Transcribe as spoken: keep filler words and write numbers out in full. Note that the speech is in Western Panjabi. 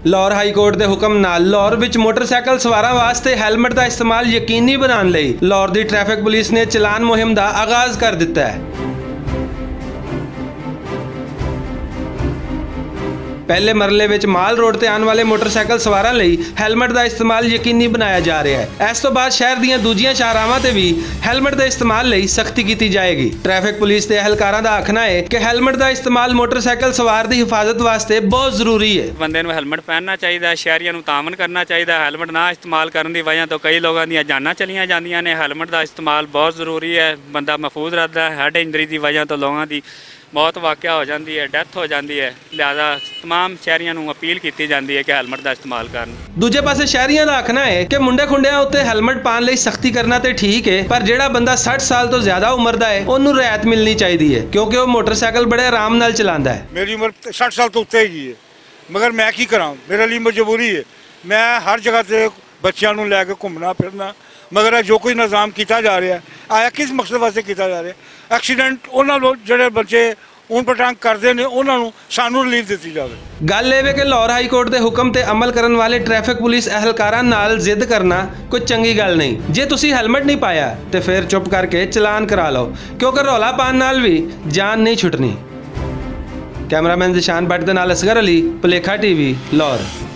لاہور ہائی کورٹ دے حکم نال لاہور وچ موٹر سائیکل سواراں واسطے ہیلمٹ دا استعمال یقینی بنان لئی لاہور دی ٹریفک پولیس نے چلان مہم دا آغاز کر دتا ہے۔ پہلے مرحلے وچ مال روڈ تے آن والے موٹر سائیکل سواراں لئی ہیلمٹ دا استعمال یقینی بنایا جا رہا ہے۔ اس تو بعد شہر دیاں دوجیاں شاہراہواں تے وی ہیلمٹ دے استعمال لئی سختی کیتی جائے گی۔ ٹریفک پولیس دے اہلکاراں دا آکھنا ہے کہ ہیلمٹ دا استعمال موٹر سائیکل سوار دی حفاظت واسطے بہت ضروری ہے۔ بندے نوں ہیلمٹ پہننا چاہیدا ہے، شہریاں نوں تعاون کرنا چاہیدا ہے۔ ہیلمٹ نہ استعمال کرن دی وجہ تو کئی لوگاں دیاں جاناں چلیاں جاندیاں نے۔ ہیلمٹ دا استعمال بہت ضروری ہے، بندہ محفوظ رہدا ہے۔ ہیڈ انجری دی وجہ تو لوگاں دی موت واقعہ ہو جاندی ہے، ڈیتھ ہو جاندی ہے۔ لہذا تمام شہریاں نوں اپیل کیتی جاندی ہے کہ ہیلمٹ دا استعمال کرن۔ دوجے پاسے شہریاں دا آکھنا ہے کہ منڈے کھنڈیاں اتے ہیلمٹ پان لئی سختی کرنا تے ٹھیک ہے، پر جیہڑا بندہ سٹھ سال توں زیادہ عمر دا ہے اونوں رعایت ملنی چاہیدی ہے، کیونکہ او موٹر سائیکل بڑے آرام نال چلاندا ہے۔ میری عمر سٹھ سال توں اتے ہی ہے، مگر میں کی کراں؟ میرے لئی مجبوری ہے۔ میں ہر جگہ تے بچیاں نوں لے کے گھومنا پھرنا، مگر اے جو کوئی نظام کیتا جا رہا ہے، آیا کس مقصد واسطے کیتا جا رہا ہے؟ ایکسیڈنٹ انہاں لوگ جڑے بچے اون پٹانگ کردے نے، انہاں نوں سانوں ریلیف دتی جاوے۔ گل اے وے کہ لاہور ہائی کورٹ دے حکم تے عمل کرن والے ٹریفک پولیس اہلکاراں نال ضد کرنا کوئی چنگی گل نہیں۔ جے تسی ہیلمٹ نہیں پایا تے فیر چپ کر کے چلان کرا لو، کیونکہ رولا پان نال وی جان نہیں چھٹنی۔ کیمرہ مین ذیشان بٹ دے نال اصغر علی، پلیکھا ٹی وی، لاہور۔